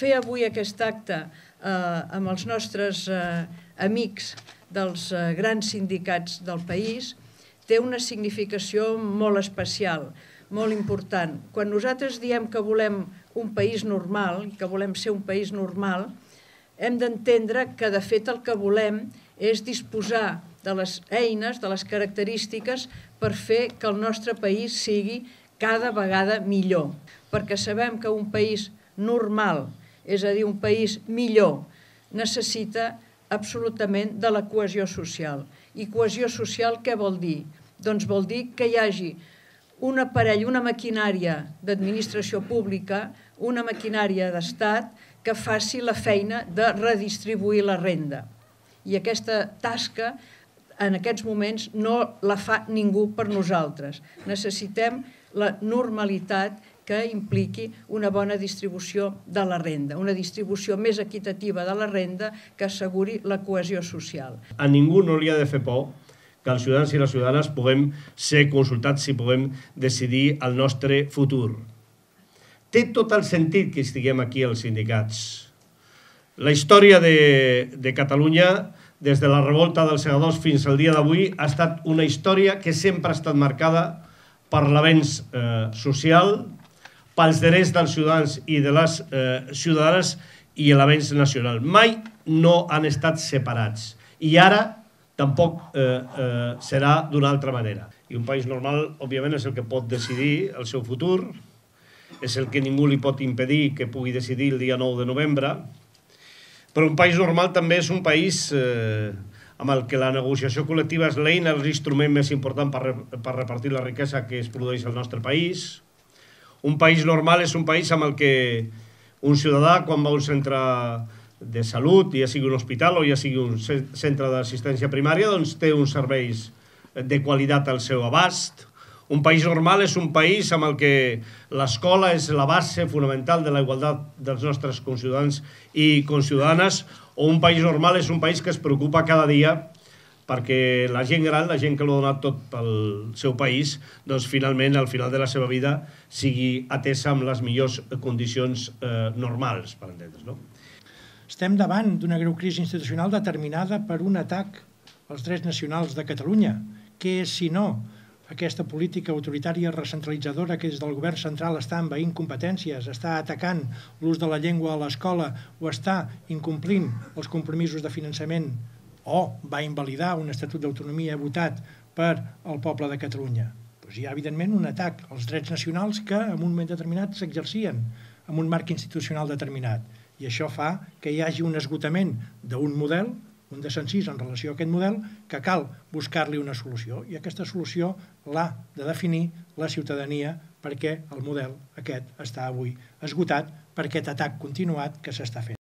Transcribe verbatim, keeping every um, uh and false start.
fer avui aquest acte amb els nostres amics dels grans sindicats del país té una significació molt especial, molt important. Quan nosaltres diem que volem un país normal, que volem ser un país normal, hem d'entendre que, de fet, el que volem és disposar de les eines, de les característiques per fer que el nostre país sigui cada vegada millor. Perquè sabem que un país normal, és a dir, un país millor, necessita absolutament de la cohesió social. I cohesió social què vol dir? Doncs vol dir que hi hagi un aparell, una maquinària d'administració pública, una maquinària d'estat que faci la feina de redistribuir la renda. I aquesta tasca, en aquests moments, no la fa ningú per nosaltres. Necessitem la normalitat que impliqui una bona distribució de la renda, una distribució més equitativa de la renda que asseguri la cohesió social. A ningú no li ha de fer por que els ciutadans i les ciutadanes puguem ser consultats i puguem decidir el nostre futur. Té tot el sentit que estiguem aquí els sindicats. La història de, de Catalunya, des de la revolta dels segadors fins al dia d'avui, ha estat una història que sempre ha estat marcada per l'avenç eh, social, pels drets dels ciutadans i de les eh, ciutadanes i l'avenç nacional. Mai no han estat separats. I ara tampoc eh, eh, serà d'una altra manera. I un país normal, òbviament, és el que pot decidir el seu futur, és el que ningú li pot impedir que pugui decidir el dia nou de novembre, però un país normal també és un país eh, amb el que la negociació col·lectiva és l'eina, l'instrument més important per, per repartir la riquesa que es produeix al nostre país. Un país normal és un país amb el que un ciutadà, quan va a un centre de salut, ja sigui un hospital o ja sigui un centre d'assistència primària, doncs té uns serveis de qualitat al seu abast. Un país normal és un país amb el que l'escola és la base fonamental de la igualtat dels nostres conciutadans i conciutadanes, o un país normal és un país que es preocupa cada dia perquè la gent gran, la gent que l'ha donat tot pel seu país, doncs finalment, al final de la seva vida, sigui atesa amb les millors condicions eh, normals, per entendre's, no? Estem davant d'una greu crisi institucional determinada per un atac als drets nacionals de Catalunya. Què és, si no, aquesta política autoritària recentralitzadora que des del govern central està envaint competències, està atacant l'ús de la llengua a l'escola o està incomplint els compromisos de finançament o va invalidar un estatut d'autonomia votat per al poble de Catalunya? Doncs hi ha, evidentment, un atac als drets nacionals que en un moment determinat s'exercien en un marc institucional determinat. I això fa que hi hagi un esgotament d'un model, un desencís en relació a aquest model, que cal buscar-li una solució. I aquesta solució l'ha de definir la ciutadania perquè el model aquest està avui esgotat per aquest atac continuat que s'està fent.